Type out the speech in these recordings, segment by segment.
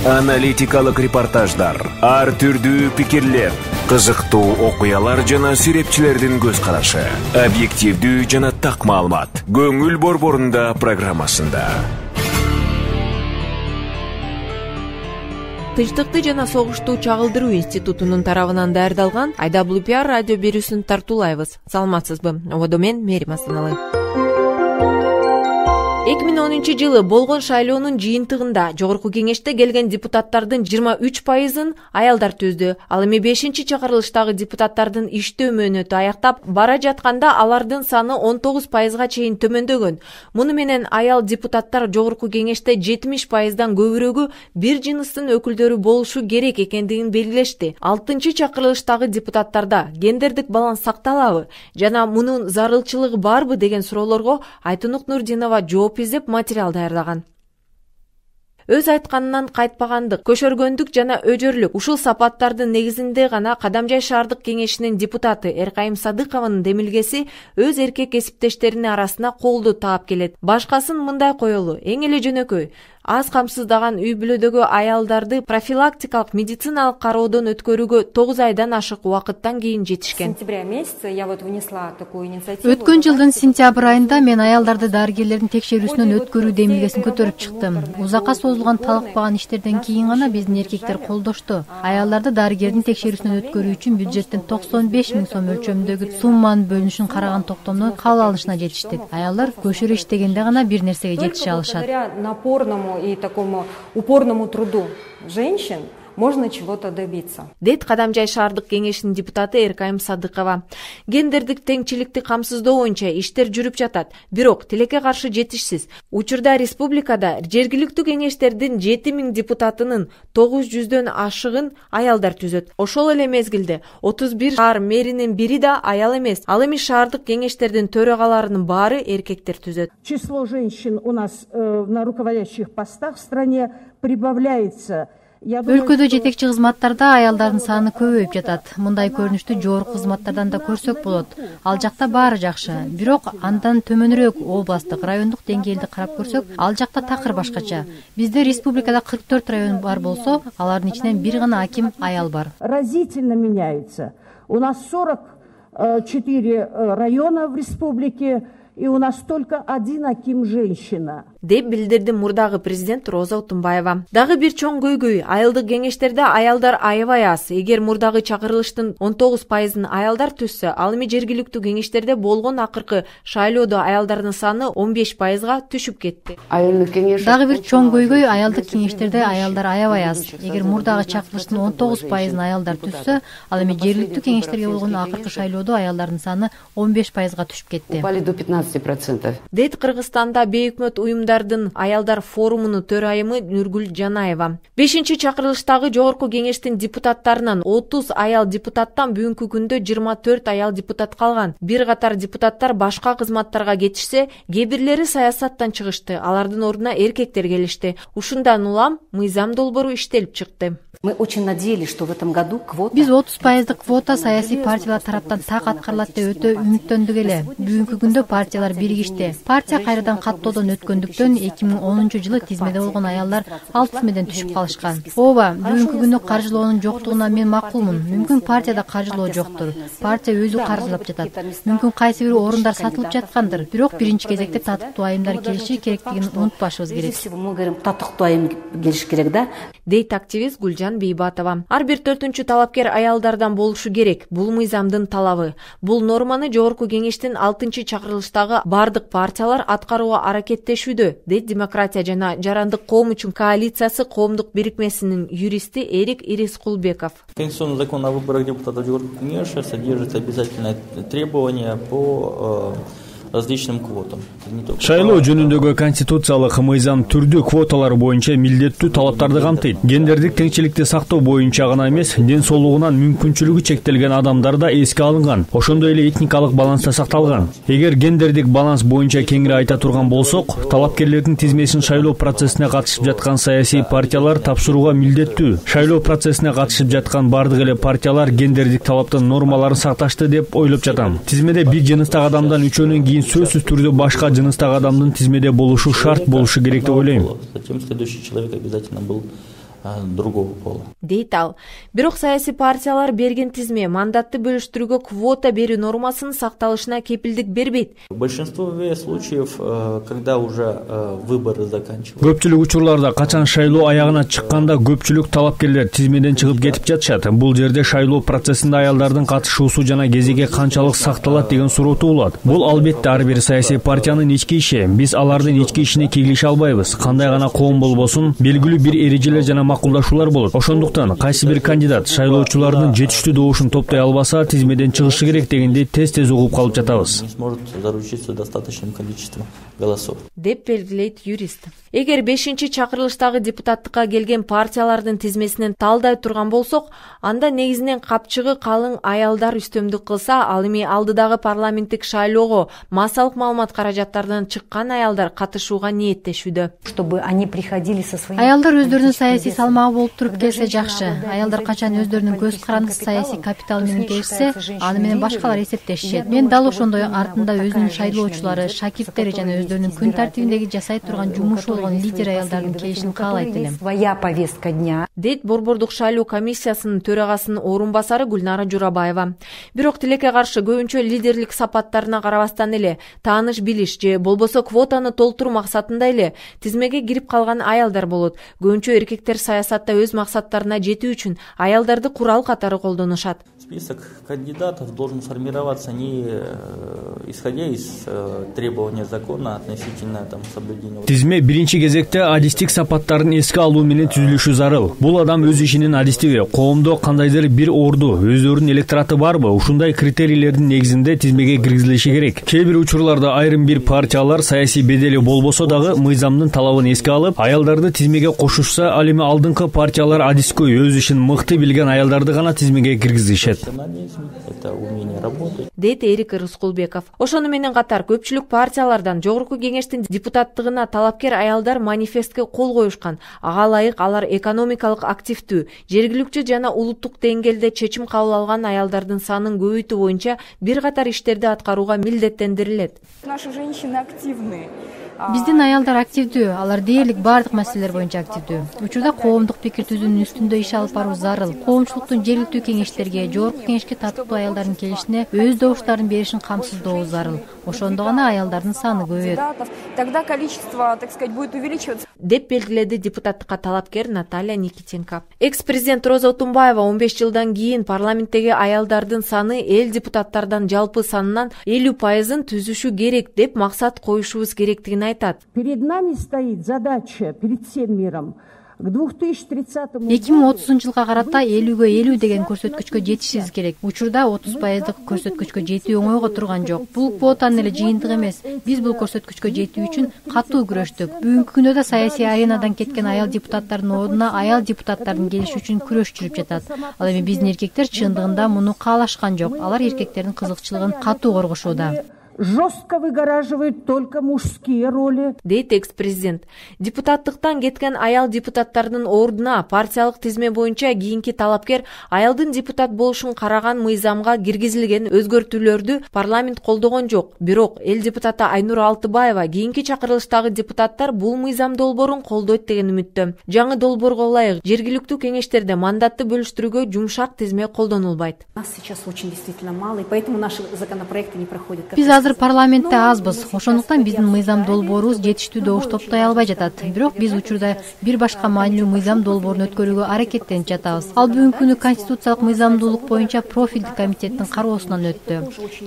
Аналитикалык репортаждар, ар түрдүү пикирлер, кызыктуу окуялар жана сүрөтчүлөрдүн көз карашы, объективдүү жана так маалымат. Көңүл борборунда программасында. Тынчтыкты жана согушту чагылдыруу институтунун тарабынан даярдалган IWPR радио берүүсүн тартуулайбыз. Саламатсызбы? Ободо мен Мерим Асаналы. 2010-жылы болгон шайлоонун жыйынтыгында жогорку кеңеште келген депутаттардын 23%-ын аялдар түздү. Ал эми 5-чакырылыштагы депутаттардын иштөө мөөнөтү аяктап бара жатканда алардын саны 19%-га чейин төмөндөгөн. Муну менен аял депутаттар жогорку кеңеште 70%-дан көбүрөгү бир жыныстын өкүлдөрү болушу керек экендигин белгилешти. 6-чакырылыштагы депутаттарда гендердик баланс сакталабы жана мунун зарылчылыгы барбы деген суроолорго Айтунук Нурдинова жооп издеп материал даярдаган. Өз айтканынан кайтпагандык, көшөргөндүк жана өжөрлүк ушул сапаттардын негизинде гана Кадамжай шаардык кеңешинин депутаты Эркайым Садыкованын демилгеси өз эркек кесиптештеринин арасына колду таап келет. Башкасын мындай коелу: эң эле жөнөкөй, аз камсыздаган үй бүлөдөгү аялдарды профилактикалык медициналык кароодон өткөрүүгө 9 айдан ашык убакыттан кийин жетишкен. Өткөн жылдын сентябрь айында мен аялдарды дарыгерлердин текшерүүсүнөн өткөрүү демилгесин көтөрүп чыктым. Узакка созулган талыкпаган иштерден кийин гана биздин эркектер колдошту. Аялдарды дарыгердин текшерүүсүнөн өткөрүү үчүн бюджеттен 95 000 сом өлчөмүндөгү сумманын бөлүнүшүн караган токтомду кабыл алышына жетиштик. Аялдар көшөрө иштегенде гана бир нерсеге жетише алышат. И такому упорному труду женщин можно чего-то добиться. Дейт Кадамжай шаардык кеңешинин депутаты Эркайым Садыкова. Гендердик теңчиликти камсыздоо боюнча иштер жүрүп жатат, бирок тилекке каршы жетишсиз. Учурда республикада жергиликтүү кеңештердин 7000 депутатынын 900дөн ашыгын аялдар түзөт. Ошол эле мезгилде 31 шаар мэринин бири да аял эмес. Ал эми шаардык кеңештердин төрагаларынын баары эркектер түзөт. Число женщин у нас на руководящих постах в стране прибавляется. Өлкөдө жетекчи кызматтарда аялдардын саны көбөйүп жатат. Мындай көрүнүштү жогорку кызматтардан да көрсөк болот. Ал жакта баары жакшы. Бирок андан төмөнүрөөк областтык, райондук деңгээлде карап көрсөк, ал жакта такыр башкача. Бизде республикада 44 район бар болсо, алардын ичинен бир гана аким аял бар. Разительно меняется. У нас 44 района в республике, и у нас только один аким женщина. Деп билдирди мурдагы президент Роза Утунбаева. Дагы бир чоң көйгөй: айылдык кеңештерде аялдар аябай аз. Эгер мурдагы чакырылыштын 19%-ын аялдар түзсө, ал эми жергиликтүү кеңештерде болгон акыркы шайлоодо аялдардын саны 15%-га түшүп кетти. Дагы бир чоң көйгөй: аялдык кеңештерде аялдар аябай аз. Эгер мурдагы чакырылыштын 19%-ын аялдар түзсө, ал эми жергиликтүү кеңештерге болгон акыркы шайлоодо аялдардын саны 15%-га түшүп кетти. Дейт Кыргызстанда бейөкмөт уюмдардын аялдар форумунун төрайымы Нургүл Жанаева. 5-чакырылыштагы жогорку кеңештин депутаттарынан 30 аял депутаттан бүгүнкү күндө 24 аял депутат калган. Бир катар депутаттар башка кызматтарга кетишсе, кээ бирлери саясаттан чыгышты. Алардын ордуна эркектер келишти. Ушундан улам мыйзам долбоору иштелип чыкты. Мы очень надеялись, что в этом году квота... Биз 30%-дык квота саясий партиялар тараптан так аткарылат деп өтө үмүттөндүк эле. Бүгүнкү күндө партиялар биригишти. Партия кайрадан каттоодон өткөндүктөн 2010-жылы тизмеде болгон аялдар ал тизмеден түшүп калышкан. Ооба, бүгүнкү күндө каржылоонун жоктугуна мен макулмун. Мүмкүн партияда каржылоо жоктур. Партия өзү каржылап жатат. Мүмкүн кайсы бир орундар сатылып жаткандыр. Бирок биринчи кезекте татыктуу айымдар келиши керектигин унутпашыбыз керек. Мы говорим, татыктуу айым келиш керек да. Дейт активист Гүлжан Бейбатова. Ар бир 4-чү талапкер аялдардан болушу керек. Бул мыйзамдын талабы. Бул норманы жогорку кеңештин 6-чакырылыштагы бардык партиялар аткарууга аракеттешүүдө, дейт Демократия жана Жарандык коом үчүн коалициясы коомдук бирикмесинин юристи Эрик Ирискулбеков. Конституционный закон о выборах депутатов жогорку кеңеш содержит обязательное требование по различным квотам. Шайлоо жөнүндөгү конституциялык мыйзам түрдүү квоталар боюнча милдеттүү талаптарды камтыйт. Гендердик теңчиликти сактоо боюнча гана эмес, ден соолугунан мүмкүнчүлүгү чектелген адамдар да эске алынган. Ошондой эле этникалык баланс да сакталган. Эгер гендердик баланс боюнча кеңири айта турган болсок, талапкерлердин тизмесин шайлоо процессине катышып жаткан саясий партиялар тапшырууга милдеттүү. Шайлоо процессине катышып жаткан бардык эле партиялар гендердик талаптын нормаларын сакташты деп ойлоп жатам. Тизмеде бир жыныстагы адамдан үчөөнөн кийин сөзсүз түрдө башка жыныстагы адамдын тизмеде болушу шарт болушу керек деп ойлойм. Затем следующий человек обязательно был другого пола. Дейт ал. Бирок саясий партиялар берген тизме мандатты бөлүштүрүүгө квота берүү нормасынын сакталышына кепилдик бербейт. В большинстве случаев, когда уже выборы заканчиваются. Көпчүлүк учурларда качан шайлоо аягына чыкканда көпчүлүк талапкерлер тизмеден чыгып кетип жатышат. Бул жерде шайлоо процессинде аялдардын катышуусу жана кезеги канчалык сакталат деген суроо туулат. Бул албетте ар бир саясий партиянын ички иши. Биз алардын ички ишине киргише албайбыз. Кандай гана коом болбосун, белгилүү бир эрежелер жана макулдашуулар болот. Ошондуктан кайсы бир кандидат шайлоочулардын жетиштүү добушун топтой албаса, тизмеден чыгышы керек дегенди тез угуп калып жатабыз. Не сможет заручиться достаточным количеством голосов. Деп белгилейт юрист. Эгер 5-чакырылыштагы депутаттыкка келген партиялардын тизмесинен талдай турган болсок, анда негизинен капчыгы калың аялдар үстөмдүк кылса, ал эми алдыдагы парламенттик шайлоого массалык маалымат каражаттарынан чыккан аялдар катышууга ниеттешүүдө. Чтобы они приходили со своими... Аялдар өздөрүнүн саясий салмагы болуп туруп келсе жакшы. Аялдар качан өздөрүнүн көз карандысы саясий капиталы менен келишсе, аны менен башкалар эсептешишет. Мен дал ошондой артында өзүнүн шайлоочулары, шакирттери жана өздөрүнүн күн тартибиндеги жасай турган жумушу болгон лидер аялдардын келишин каалайт элем. Своя повестка дня. Дейт Борбордук шайлоо комиссиясынын төрагасынын орун басары Гүлнара Журабаева. Бирок тилекке каршы көбүнчө лидерлик сапаттарына карабастан эле тааныш билиш же болбосо квотаны толтуруу максатында эле тизмеге кирип калган аялдар болот. Көбүнчө эркектер саясатта өз максаттарына жетүү үчүн аялдарды курал катары колдонушат. Список кандидатов должен формироваться не исходя из требования закона относительно соблюдения. Тизме биринчи кезекте адистик сапаттарын эске алуу менен түзүлүшү зарыл. Бул адам өз ишинин адистиби, коомдо кандайдыр бир орду, өздөрүнүн электораты барбы? Ушундай критерийлердин негизинде тизмеге киргизилиши керек. Кээ бир учурларда айрым бир партиялар саясий бедели болбосо дагы мыйзамдын талабын эске алып, аялдарды тизмеге кошушса, ал эми алдыңкы партиялар адискөй өз ишин мыкты билген аялдарды гана тизмеге киргизишет. Это умение работать. Дейт Эрик Рыскулбеков. Ошону менен катар көпчүлүк партиялардан жогорку кеңештин депутаттыгына талапкер аялдар манифестке кол коюшкан. Ага ылайык алар экономикалык активдүү, жергиликтүү жана улуттук деңгээлде чечим кабыл алган аялдардын санын көбөйтүү боюнча бир катар иштерди аткарууга милдеттендирилет. Наши женщины активные. Биздин аялдар активдүү, алар дээрлик бардык маселелер боюнча активдүү. Учурда коомдук пикир түзүүнүн үстүндө иш алып баруу зарыл. Коомчулуктун жергиликтүү кеңештерге, жогорку кеңешке татыктуу аялдардын келишине өз добуштарын беришин камсыздоо зарыл. Ошондо гана аялдардын саны көбөйөт. Тогда количество, так сказать, будет увеличиваться. Деп белгиледи депутаттыкка талапкер Наталья Никитенко. Экс-президент Роза Отунбаева 15 жылдан кийин парламенттеги аялдардын саны эл депутаттардан жалпы санынан 50%-ын түзүшү керек деп максат коюшубуз керектигин айтат. Перед нами стоит задача перед всем миром к 2030 году 2030 жылга карата 50-50 деген көрсөткүчкө жетишибиз керек. Учурда 30%дык көрсөткүчкө жетүү оңойго турган жок. Бул квотанын эле жыйынтыгы эмес. Биз бул көрсөткүчкө жетүү үчүн катуу күрөштүк. Бүгүнкү күндө да саясий аренадан кеткен аял депутаттардын ордуна аял депутаттардын келиши үчүн күрөш жүрүп жатат. Ал эми биздин эркектер чындыгында муну каалашкан жок. Алар эркектердин кызыкчылыгын катуу коргошууда. жестко выгораживают только мужские роли. Дейт экс-президент. Депутаттыктан кеткен аял депутаттардын ордуна партиялык тизме боюнча кийинки талапкер аялдын депутат болушун караган мыйзамга киргизилген өзгөртүүлөрдү парламент колдогон жок. Бирок эл депутаты Айнура Алтыбаева кийинки чакырылыштагы депутаттар бул мыйзам долбоорун колдойт деген үмүттө. Жаңы долбоорго ылайык жергиликтүү кеңештерде мандатты бөлүштүрүүгө жумшак тизме колдонулбайт. Нас сейчас очень действительно мало, и поэтому наши законопроекты не проходят. Биз азыр парламентте азбыз. Ошондуктан биздин мыйзам долбоорубуз жетиштүү добуш топтой албай жатат. Бирок биз учурда бир башка маанилүү мыйзам долбоорун өткөрүүгө аракеттенип жатабыз. Ал бүгүнкү күнү конституциялык мыйзамдуулук боюнча профилдик комитеттин кароосунан өттү.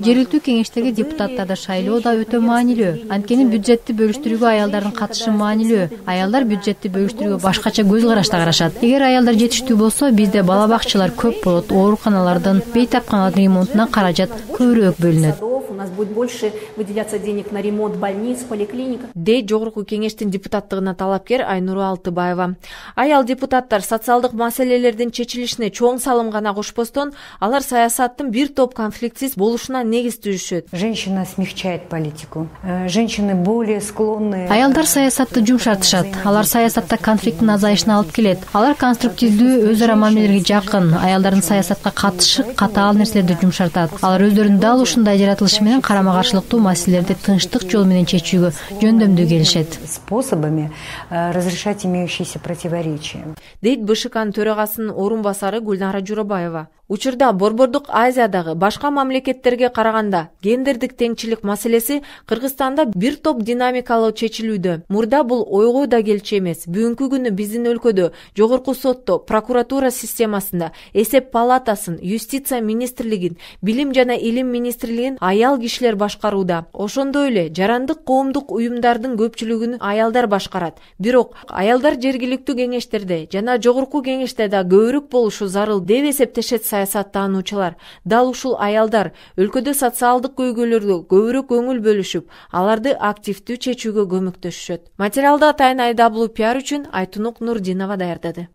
Жергиликтүү кеңештеги депутаттарды шайлоо да өтө маанилүү. Анткени бюджетти бөлүштүрүүгө аялдардын катышы маанилүү. Аялдар бюджетти бөлүштүрүүгө башкача көз карашта карашат. Эгер аялдар жетиштүү болсо, бизде бала бакчалар көп болот. Ооруканалардын, бейтапканалардын ремонтуна каражат көбүрөөк бөлүнөт. У нас будет больше выделяться денег на ремонт больниц, поликлиник. Дейт жогорку кеңештин депутаттыгына талапкер Айнура Алтыбаева. Аял депутаттар социалдык маселелердин чечилишине чоң салым гана кошпостон, алар саясаттын бир топ конфликтсиз болушуна негиз түзүшөт. Женщина смягчает политику. Женщины более склонны. Аялдар саясатты жумшартышат. Алар саясатта конфликттин азайышына алып келет. Алар конструктивдүү, өз ара мамилелерге жакын. Аялдардын саясатка катышы катаал нерселерди жумшартат. Алар өздөрүн дал ушундай жаратылышы менен менен карама каршылыктуу маселелерди тынчтык жол менен чечүүгө жөндөмдүү келишет. Способами разрешать имеющиеся противоречия. Дейт БШКнын төрагасынын орун басары Гүлнара Журабаева. Учурда Борбордук Азиядагы башка мамлекеттерге караганда гендердик теңчилик маселеси Кыргызстанда бир топ динамикалуу чечилүүдө. Мурда бул ойго да келчү эмес. Бүгүнкү күнү биздин өлкөдө жогорку сотто, прокуратура системасында, эсеп палатасын, юстиция министрлигин, билим жана илим министрлигин аял кишилер башкарууда. Ошондой эле жарандык коомдук уюмдардын көпчүлүгүн аялдар башкарат. Бирок аялдар жергиликтүү кеңештерде жана жогорку кеңеште да көбүрөөк болушу зарыл деп эсептешет саясаттануучулар. Дал ушул аялдар өлкөдө социалдык көйгөйлөргө көбүрөөк көңүл бөлүшүп, аларды активдүү чечүүгө көмөктөшүшөт. Материалды атайын IWPR үчүн Айтунук Нурдинова даярдады.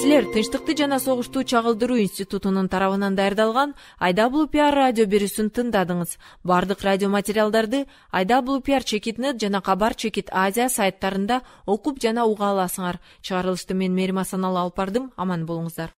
Силер Тынчтыкты жана согушту чагылдыруу институтунун тарабынан даярдалган IWPR радио берүүсүн тыңдадыңыз. Бардык радио материалдарды IWPR-net жана Кабар Азия сайттарында окуп жана уга аласыңар. Чыгарылышты мен Мерим Асаналы алып бардым. Аман болуңуздар.